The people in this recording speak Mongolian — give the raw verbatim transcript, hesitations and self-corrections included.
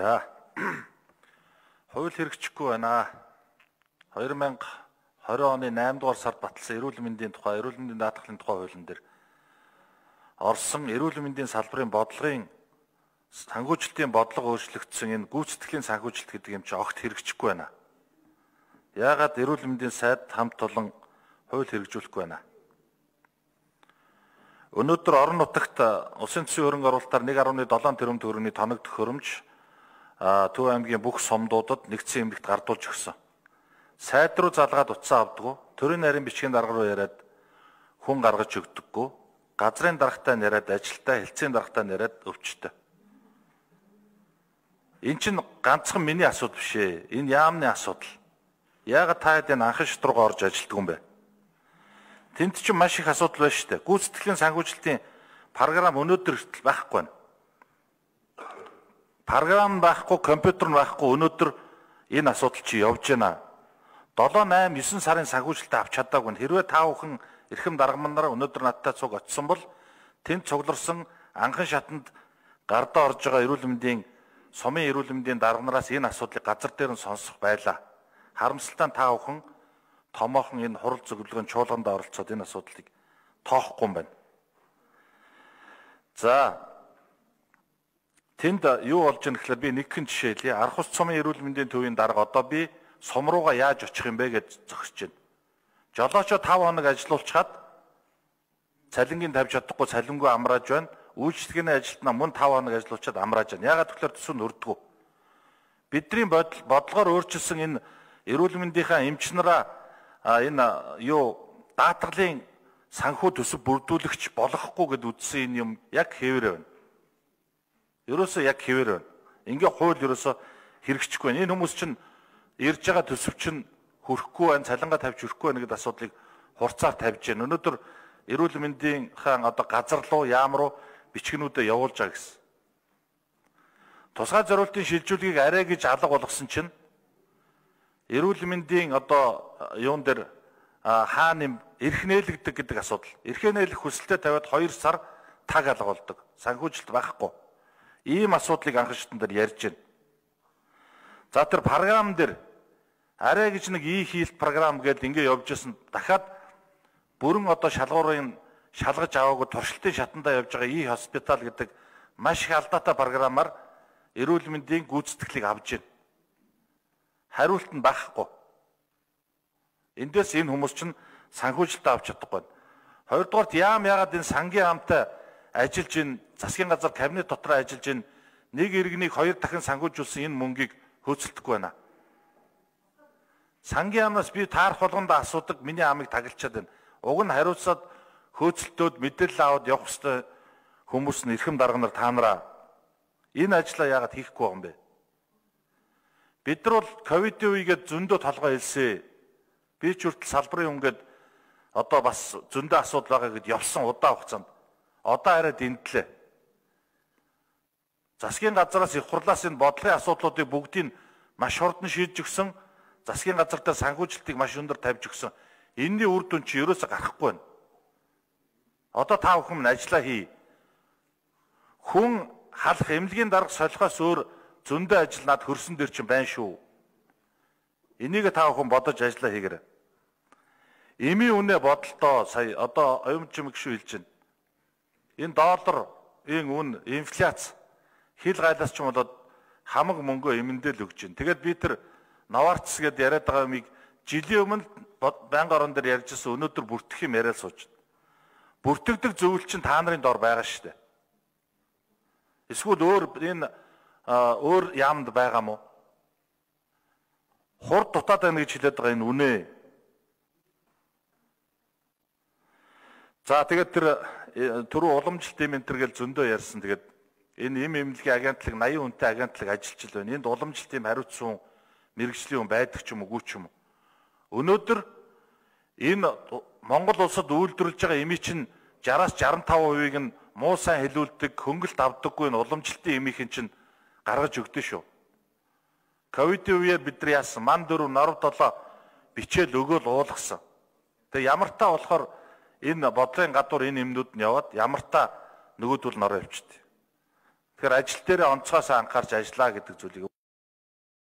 За. Хууль хэрэгжихгүй байна. хоёр мянга хорин оны наймдугаар сард батлсан эрүүл мэндийн тухай, эрүүл мэндийн даатгалын тухай хуулийн дээр орсон эрүүл мэндийн салбарын бодлогын санхүүжилтийн бодлого өөрчлөгдсөн энэ гүйцэтгэлийн санхүүжилт гэдэг юм чи огт хэрэгжихгүй байна. Яагаад эрүүл мэндийн сайд хамт олон хууль хэрэгжүүлэхгүй байна? Өнөөдөр орон нутагт улсын төсвийн хөрөнгө оруулалтаар нэг нугаас долоон тэрбум төгрөгийн тоног төхөөрөмж Төв аймгийн бүх сумдуудад нэгдсэн эмнэлэгт гардуулж өгсөн. Сайд руу залгаад утсаа авдаггүй, төрийн нарийн бичгийн дарга руу яриад хүн гаргаж өгдөггүй, газрын даргатай яриад ажилтаа, хэлтсийн даргатай яриад өвчтөй. Энэ чинь ганцхан миний асуудал биш ээ. Энэ яамны асуудал. Яагаад та хэд энэ анхан шат руугаа орж ажилтдаг юм бэ? Тэнд чинь маш их асуудал байна шүү дээ. Гүйцэтгэлийн санхүүжилтийн програм өнөөдөр хүртэл байхгүй байна. Програм байхгүй, компьютер байхгүй, өнөөдөр энэ асуудал чи явж байна. долоо найман найман сарын санхүүжилтээ авч чадаагүй. Хэрвээ та бүхэн эрхэм даргамнараа өнөөдөр надтай цуг очсон бол тэнд цугларсан анхан шатанд гардаа орж байгаа эрүүл мэндийн сумын эрүүл мэндийн дарганараас энэ асуудлыг газар дээр нь сонсох байлаа. Харамсалтай та бүхэн томоохон энэ хурал зөвлөгөөний чуулганд оролцоод энэ асуудлыг тоохгүй юм байна. За тэнд юу болж байгаа гэхээр би нэг хэн жишээ хэлье. Арх ус цумын эрүүл мэндийн төвийн дарга одоо би сум руугаа яаж очих юм бэ гэж зогсож байна. Жолоочоо тав хоног ажиллуулчихад цалингийн тавьж чадахгүй цалингүй амрааж байна. Үйлчлэгээний ажилтнаа мөн тав хоног ажиллуулчихад амрааж байна. Яагаад тэгэхээр төсөв нь өрдгөө. Бидний бодлогоор өөрчилсөн энэ эрүүл мэндийнхаа эмч нараа энэ юу даатгалын санхүү төсөв бүрдүүлэгч болохгүй гэд үздсэн энэ юм яг хэвээр байна. Ерөөсөө яг хэвээр байна. Ингээ хууль ерөөсөө хэрэгжихгүй байна. Энэ хүмүүс чинь ирж байгаа төсөв чинь хүрэхгүй байна, цалингаа тавьж хүрэхгүй байна гэдэг асуудлыг хурцаар тавьж байна. Өнөөдөр эрүүл мэндийн хаан одоо газар руу, яам руу бичгнүүдэд явуулж байгаа гэсэн. Тусгай зориултын шилжүүлгийг арай гэж алга болгосон чинь эрүүл мэндийн одоо юун дээр хаана эрх нээлгдэг гэдэг асуудал. Эрхээ нээлгэх хүсэлтэд тавиад хоёр сар таг алга болдог. Санхүүжилт байхгүй. Ийм асуудлыг анхан шатн дээр ярьж байна. За тэр програм дээр арай гэж нэг и хийлт програм гэдээ ингэ явж исэн дахиад бүрэн одоо шалгуурын шалгаж аваагүй туршилтын шатандаа явж байгаа и хоспитал гэдэг маш их алдаатай програмаар эрүүл мэндийн гүйцэтгэлийг авж байна. Хариулт нь багхгүй. Эндээс энэ хүмүүс чинь санхүүжилтээ авч чадахгүй байна. Хоёрдугаарт яам яагаад энэ сангийн хамтаа ажиллаж ин засгийн газар кабинет дотор ажиллаж ин нэг иргэнийг хоёр дахин санхүүжүүлсэн энэ мөнгийг хөөцөлдөхгүй байна. Сангийн амнаас би таарах болгондоо асуудаг миний амыг таглчаад байна. Уг нь хариуцаад хөөцөлтөөд мэдээлэл аваад явах ёстой хүмүүс нь эрхэм дарга нар та нараа энэ ажлаа яагаад хийхгүй байгаа юм бэ? Бид нар бол ковидын үегээд зөндөө толгой хэлсэн. Би ч хүртэл салбарын үнгээд одоо бас зөндөө асуудал байгаа гэд явсан удаа хугацаанд. Одоо арай дэндлээ. Засгийн газараас их хурлаас энэ бодлогын асуудлуудыг бүгдийг маш хурдан шийдэж өгсөн. Засгийн газар дээр санхүүжилтийг маш өндөр тавьж өгсөн. Энэний үр дүн чи ерөөсө гарахгүй байна. Одоо та бүхэн минь ажиллаа хий. Хүн халах эмнэлгийн дарга солихоос өөр зөндөө ажил над хөрсөн дээр чинь байна шүү. Энийг та бүхэн бодож ажиллаа хийгээрэй. Эми үнэ бодолтоо сая одоо оюун чимэг шүү хэлж байна. Энэ долларын үн инфляц хил гайлаас ч юм болоод хамаг мөнгөө эмэндэл өгч байна. Тэгээд би тэр Новартс гэдээ яриад байгаа юмыг жилийн өмнө байнгын орон дээр ярьжсэн өнөөдөр бүртгэх юм яриад сууж байна. Бүртгэдэг зөвлөл чинь та нарын дор байгаа шүү дээ. Эсвэл өөр энэ өөр яамд байгаа мó? Хурд дутаад байна гэж хэлээд байгаа энэ үнэ. За тэгээд тэр түрүү уламжлалт юм энэ төр гэл зөндөө ярьсан. Тэгээд энэ эм эмнэлгийн агентлаг наян хүнтэй агентлаг ажиллаж байна. Энд уламжлалт юм хариуцсан мэрэгжлийн хүн байдаг ч юм уу, үгүй ч юм уу. Өнөөдөр энэ Монгол улсад үйлдвэрлэж байгаа эми чинь араас жаран таван хувийг нь муу сайн хэлүүлдэг, хөнгөлт авдаггүй энэ уламжлалтын эмийн чинь гаргаж өгдөө шүү. Ковидын үеэр бид нар яасан? Ман дөрөв норв долоо бичээл өгөөл уулгасан. Тэгээ ямар та болохоор энэ бодлогын гадуур энэ эмнүүд нь яваад ямар та нөгөөдөл нороо явчихдаг. Тэгэхээр ажил дээрээ онцгоос анхаарч ажиллаа гэдэг зүйлийг